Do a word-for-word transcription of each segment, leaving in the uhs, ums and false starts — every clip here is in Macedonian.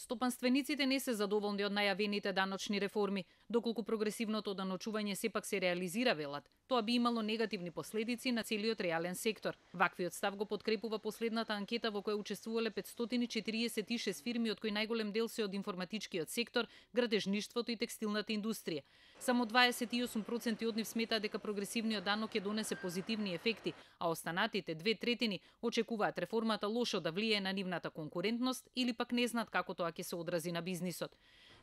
Стопанствениците не се задоволни од најавените даночни реформи, доколку прогресивното даночување сепак се реализира, велат. Тоа би имало негативни последици на целиот реален сектор. Ваквиот став го подкрепува последната анкета во која учествувале петстотини четириесет и шест фирми, од кои најголем дел се од информатичкиот сектор, градежништвото и текстилната индустрија. Само дваесет и осум проценти од нив сметаат дека прогресивниот данок ќе донесе позитивни ефекти, а останатите две третини очекуваат реформата лошо да влијае на нивната конкурентност или пак не знаат како тоа ќе се одрази на бизнисот.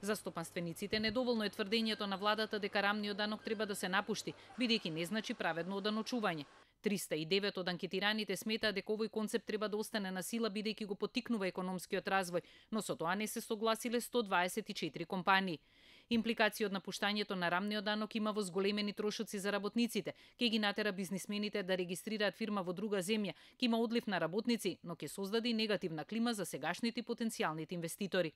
За стопанствениците недоволно е тврдењето на владата дека рамниот данок треба да се напушти, бидејќи не значи праведно оданочување. триста и девет од анкетираните сметаат дека овој концепт треба да остане на сила бидејќи го поттикнува економскиот развој, но со тоа не се согласиле сто дваесет и четири компании. Импликација од напуштањето на рамниот данок има во зголемени трошоци за работниците, ќе ги натера бизнисмените да регистрираат фирма во друга земја, ќе има одлив на работници, но ќе создаде и негативна клима за сегашните и потенцијалните инвеститори.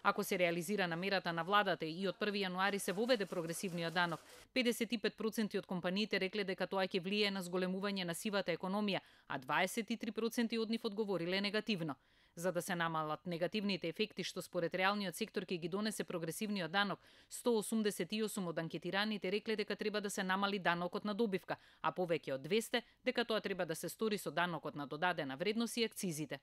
Ако се реализира намерата на владата и од први јануари се воведе прогресивниот данок, педесет и пет проценти од компаниите рекле дека тоа ќе влијае на зголемување на сивата економија, а дваесет и три проценти од нив одговориле негативно. За да се намалат негативните ефекти што според реалниот сектор ќе ги донесе прогресивниот данок, сто осумдесет и осум од анкетираните рекле дека треба да се намали данокот на добивка, а повеќе од двесте дека тоа треба да се стори со данокот на додадена вредност и акцизите.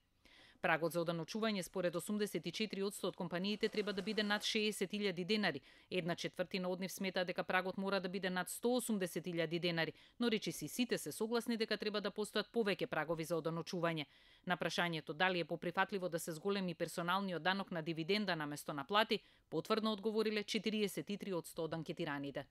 Прагот за оданочување според осумдесет и четири одсто од компаниите треба да биде над шеесет илјади денари. Една четвртина од нив смета дека прагот мора да биде над сто осумдесет илјади денари, но речиси сите се согласни дека треба да постојат повеќе прагови за оданочување. На прашањето дали е поприфатливо да се зголеми персоналниот данок на дивиденда наместо на плати, потврдно одговориле четириесет и три одсто од анкетираните.